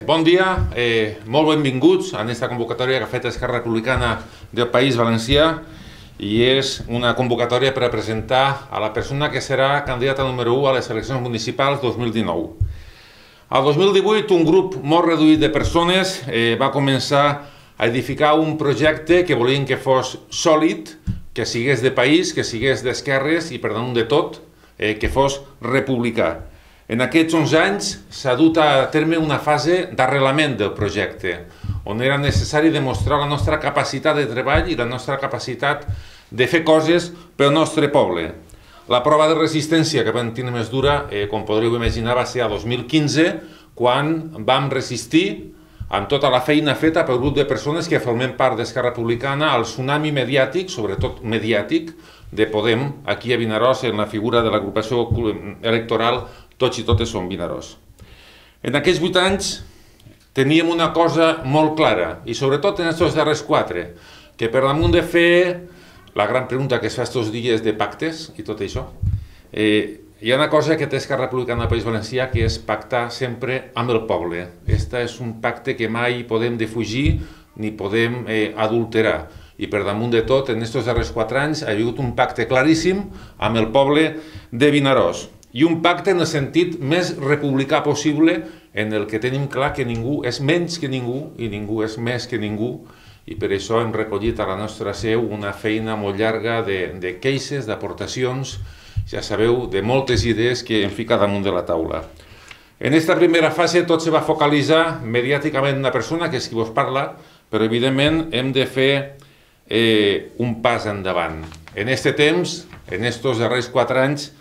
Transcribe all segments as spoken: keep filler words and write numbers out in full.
Bon dia, eh, molt benvinguts a aquesta convocatòria que ha fet Esquerra Republicana del País Valencià i és una convocatòria per a presentar a la persona que serà candidata número u a les eleccions municipals dos mil dinou. Al dos mil divuit, un grup molt reduït de persones eh, va començar a edificar un projecte que volien que fos sòlid, que sigués de país, que sigués d'esquerres i, per damunt de tot, eh, que fos republicà. En aquests onze anys s'ha dut a terme una fase d'arrelament del projecte, on era necessari demostrar la nostra capacitat de treball i la nostra capacitat de fer coses pel nostre poble. La prova de resistència que vam tenir més dura, eh, com podríeu imaginar, va ser a dos mil quinze, quan vam resistir amb tota la feina feta pel grup de persones que formem part d'Esquerra Republicana al tsunami mediàtic, sobretot mediàtic, de Podem, aquí a Vinaròs, en la figura de l'agrupació electoral Tots i Totes som Vinaròs. En aquests vuit anys teníem una cosa molt clara, i sobretot en aquests darrers quatre, que per damunt de fer la gran pregunta que es fa aquests dies de pactes i tot això, eh, hi ha una cosa que té Esquerra Republicana del País Valencià, que és pactar sempre amb el poble. Este és un pacte que mai podem defugir ni podem eh, adulterar. I per damunt de tot, en aquests darrers quatre anys ha hagut un pacte claríssim amb el poble de Vinaròs. I un pacte en el sentit més republicà possible, en el que tenim clar que ningú és menys que ningú i ningú és més que ningú, i per això hem recollit a la nostra seu una feina molt llarga de, de queixes, d'aportacions, ja sabeu, de moltes idees que hem ficat damunt de la taula. En aquesta primera fase tot se va focalitzar mediàticament en una persona, que és qui vos parla, però evidentment hem de fer eh, un pas endavant. En aquest temps, en aquests darrers quatre anys,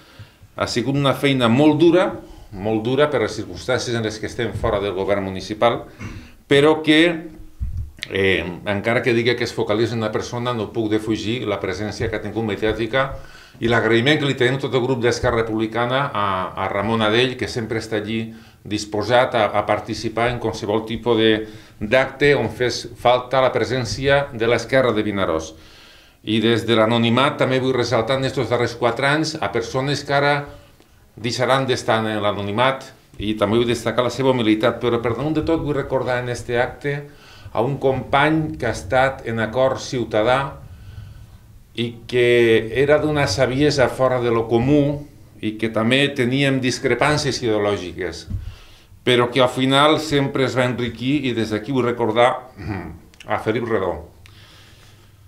ha sigut una feina molt dura, molt dura per les circumstàncies en les que estem fora del govern municipal, però que, eh, encara que digui que es focalitza en una persona, no puc defugir la presència que ha tingut mediàtica i l'agraïment que li tenim tot el grup d'Esquerra Republicana a, a Ramon Adell, que sempre està allí disposat a, a participar en qualsevol tipus d'acte on fes falta la presència de l'esquerra de Vinaròs. I des de l'anonimat també vull ressaltar en aquests darrers quatre anys a persones que ara deixaran d'estar en l'anonimat i també vull destacar la seva humilitat, però per damunt de tot vull recordar en aquest acte a un company que ha estat en acord ciutadà i que era d'una saviesa fora de lo comú i que també teníem discrepàncies ideològiques, però que al final sempre es va enriquir, i des d'aquí vull recordar a Felip Redó.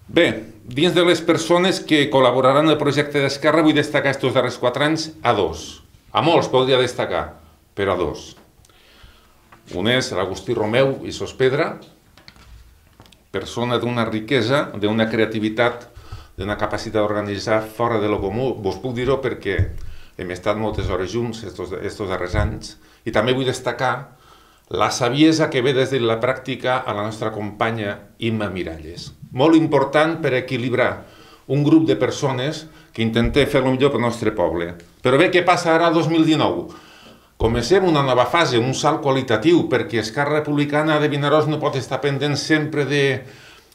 Bé, dins de les persones que col·laboraran en el projecte d'Esquerra vull destacar aquests darrers quatre anys a dos. A molts podria destacar, però a dos. Un és l'Agustí Romeu i Sospedra, persona d'una riquesa, d'una creativitat, d'una capacitat d'organitzar fora de lo comú. Vos puc dir-ho perquè hem estat moltes hores junts aquests darrers anys. I també vull destacar la saviesa que ve des de la pràctica a la nostra companya Imma Miralles. Molt important per equilibrar un grup de persones que intentem fer el millor pel nostre poble. Però bé, què passa ara el dos mil dinou? Comencem una nova fase, un salt qualitatiu, perquè Esquerra Republicana de Vinaròs no pot estar pendent sempre de,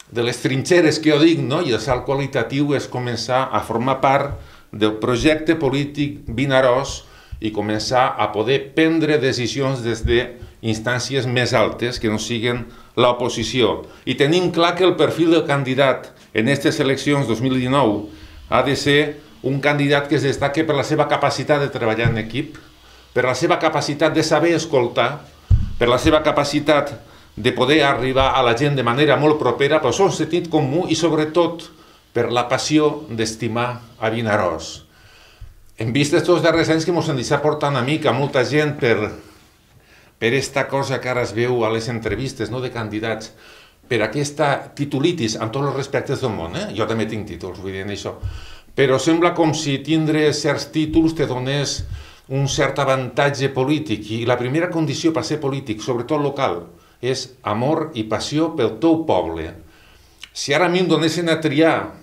de les trinxeres que jo dic, no? I el salt qualitatiu és començar a formar part del projecte polític Vinaròs i començar a poder prendre decisions des d'instàncies més altes que no siguin l'oposició. I tenim clar que el perfil del candidat en aquestes eleccions dos mil dinou ha de ser un candidat que es destaque per la seva capacitat de treballar en equip, per la seva capacitat de saber escoltar, per la seva capacitat de poder arribar a la gent de manera molt propera, pel seu sentit comú i sobretot per la passió d'estimar a Vinaròs. Hem vist aquests darrers anys que ens hem deixat portar una mica molta gent per per aquesta cosa que ara es veu a les entrevistes de candidats, per aquesta titulitis, amb tots els respectes del món. Jo també tinc títols, vull dir això. Però sembla com si tindre certs títols te donés un cert avantatge polític. I la primera condició per ser polític, sobretot local, és amor i passió pel teu poble. Si ara a mi em donessin a triar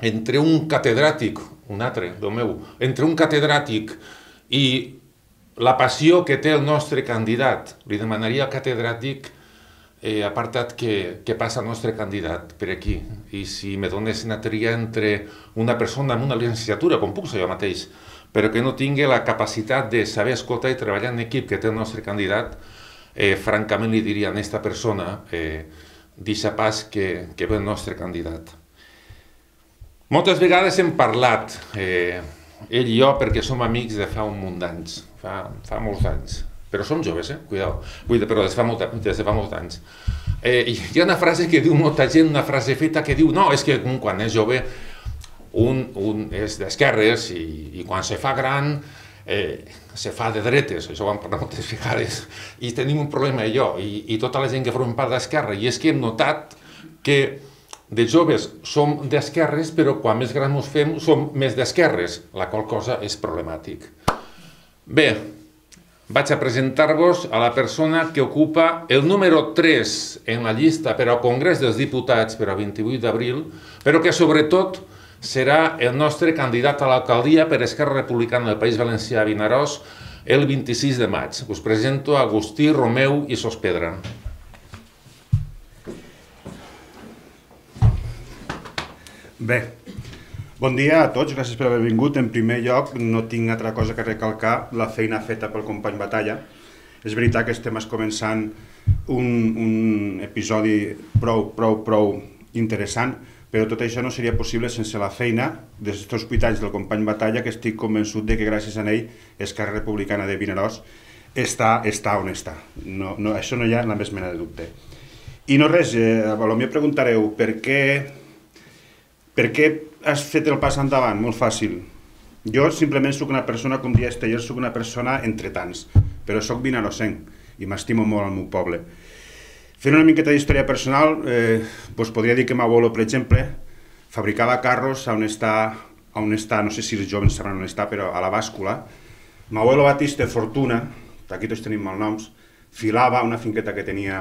entre un catedràtic, un altre, del meu, entre un catedràtic i la passió que té el nostre candidat, li demanaria al catedràtic eh, apartat que, que passa el nostre candidat per aquí. I si me donessin a triar entre una persona amb una licenciatura, com puc ser jo mateix, però que no tingui la capacitat de saber escoltar i treballar en equip que té el nostre candidat, eh, francament li diria a aquesta persona eh, deixa pas que, que ve el nostre candidat. Moltes vegades hem parlat, eh, ell i jo, perquè som amics de fa un munt d'anys, fa, fa molts anys, però som joves, eh? Cuidao, Cuida, però des de fa, molt, des de fa molts anys. Eh, hi ha una frase que diu molta gent, una frase feta que diu, no, és que quan és jove un, un és d'esquerres i, i quan se fa gran eh, se fa de dretes, això ho hem parlat moltes vegades, i tenim un problema jo, i, i tota la gent que formem part d'esquerra, i és que hem notat que de joves som d'esquerres, però quan més grans ens fem som més d'esquerres, la qual cosa és problemàtic. Bé, vaig a presentar-vos a la persona que ocupa el número tres en la llista per al Congrés dels Diputats per al vint-i-vuit d'abril, però que sobretot serà el nostre candidat a l'alcaldia per Esquerra Republicana del País Valencià a Vinaròs el vint-i-sis de maig. Us presento Agustí Romeu i Sospedra. Bé, bon dia a tots, gràcies per haver vingut. En primer lloc, no tinc altra cosa que recalcar la feina feta pel company Batalla. És veritat que estem començant un, un episodi prou, prou, prou interessant, però tot això no seria possible sense la feina dels hospitals del company Batalla, que estic convençut de que gràcies a ell Esquerra Republicana de Vinaròs està, està on està. No, no, això no hi ha la més mena de dubte. I no res, eh, potser preguntareu per què, per què has fet el pas endavant? Molt fàcil. Jo simplement soc una persona, com deia Esteller, soc una persona entre tants, però soc vinaròsenc i m'estimo molt al meu poble. Fent una miqueta d'història personal, eh, doncs podria dir que m'abuelo, per exemple, fabricava carros on està, on està, no sé si els joves sabran on està, però a la bàscula. M'abuelo Batista Fortuna, d'aquí tots tenim malnoms, filava una finqueta que tenia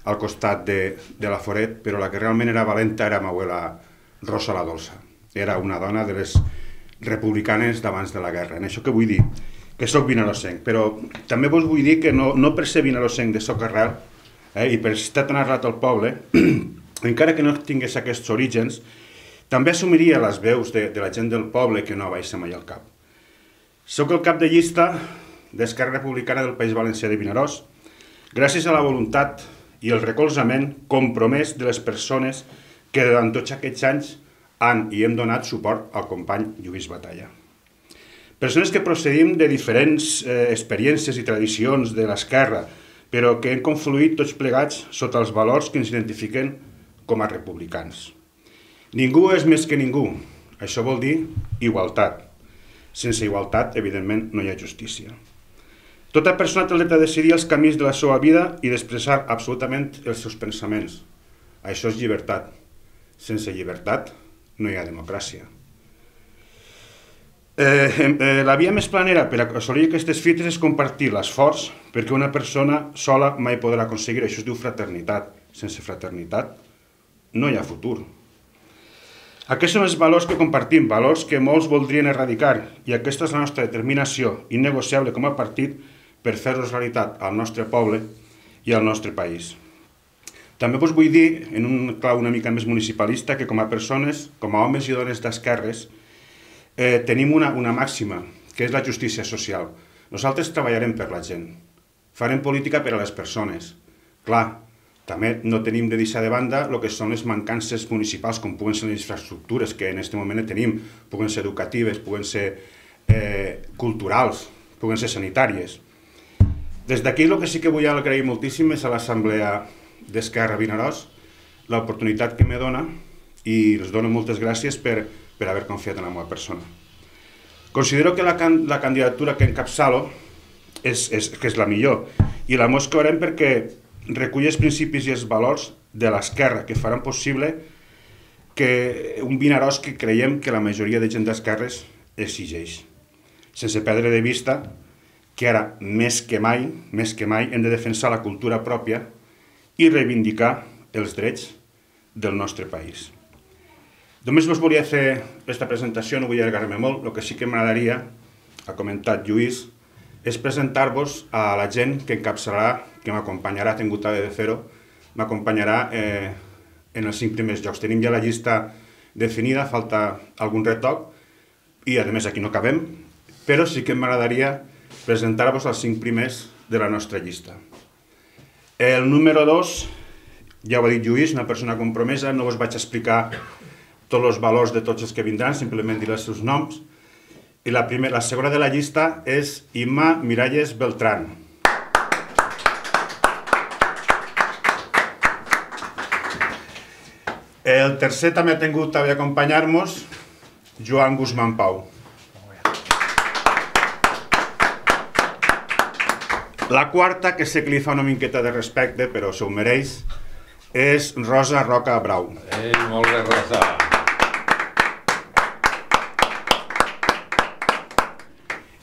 al costat de, de la Foret, però la que realment era valenta era m'abuela Rosa la Dolça. Era una dona de les republicanes d'abans de la guerra. En això que vull dir? Que soc vinaròsenc, però també vos vull dir que no, no per ser vinaròsenc de soc arrel, Eh, i per estar tan arrelat al poble, encara que no tingués aquests orígens, també assumiria les veus de, de la gent del poble que no baixa mai al cap. Soc el cap de llista d'Esquerra Republicana del País Valencià de Vinaròs, gràcies a la voluntat i el recolzament compromès de les persones que durant tots aquests anys han i hem donat suport al company Lluís Batalla. Persones que procedim de diferents eh, experiències i tradicions de l'esquerra, però que hem confluït tots plegats sota els valors que ens identifiquen com a republicans. Ningú és més que ningú. Això vol dir igualtat. Sense igualtat, evidentment, no hi ha justícia. Tota persona té el dret a decidir els camins de la seva vida i d'expressar absolutament els seus pensaments. Això és llibertat. Sense llibertat no hi ha democràcia. Eh, eh, la via més planera per assolir aquestes fites és compartir l'esforç, perquè una persona sola mai podrà aconseguir. Això es diu fraternitat. Sense fraternitat no hi ha futur. Aquests són els valors que compartim, valors que molts voldrien erradicar, i aquesta és la nostra determinació innegociable com a partit per fer-los realitat al nostre poble i al nostre país. També us vull dir, en un clau una mica més municipalista, que com a persones, com a homes i dones d'esquerres, Eh, tenim una, una màxima, que és la justícia social. Nosaltres treballarem per la gent, farem política per a les persones. Clar, també no tenim de deixar de banda el que són les mancances municipals, com puguen ser les infraestructures que en aquest moment tenim, puguen ser educatives, puguen ser eh, culturals, puguen ser sanitàries. Des d'aquí el que sí que vull agrair moltíssim és a l'Assemblea d'Esquerra Vinaròs l'oportunitat que me dona, i els dono moltes gràcies per per haver confiat en la meva persona. Considero que la, can la candidatura que encapçalo és, és, que és la millor, i la mosclarem perquè recull els principis i els valors de l'esquerra que faran possible que un Vinaròs que creiem que la majoria de gent d'esquerres exigeix. Sense perdre de vista que ara, més que mai, més que mai, hem de defensar la cultura pròpia i reivindicar els drets del nostre país. Només us volia fer aquesta presentació, no vull allargar-me molt. El que sí que m'agradaria, ha comentat Lluís, és presentar-vos a la gent que encapçalarà, que m'acompanyarà, tinc gota de fer-ho, m'acompanyarà eh, en els cinc primers llocs. Tenim ja la llista definida, falta algun retoc, i a més aquí no acabem, però sí que m'agradaria presentar-vos els cinc primers de la nostra llista. El número dos, ja ho ha dit Lluís, una persona compromesa, no us vaig explicar tots els valors de tots els que vindran, simplement dir els seus noms. I la, primera, la segona de la llista és Imma Miralles Beltrán. El tercer també ha tingut també acompanyar-nos Joan Guzmán Pau. La quarta, que sé que li fa una miqueta de respecte, però s'ho mereix, és Rosa Roca Brau. Ei, molt bé, Rosa.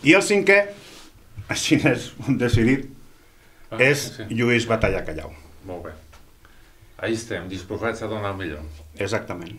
I el cinquè, així és un decidit, és Lluís Batalla Callau. Molt bé. Ahí estem, disposats a donar el millor. Exactament.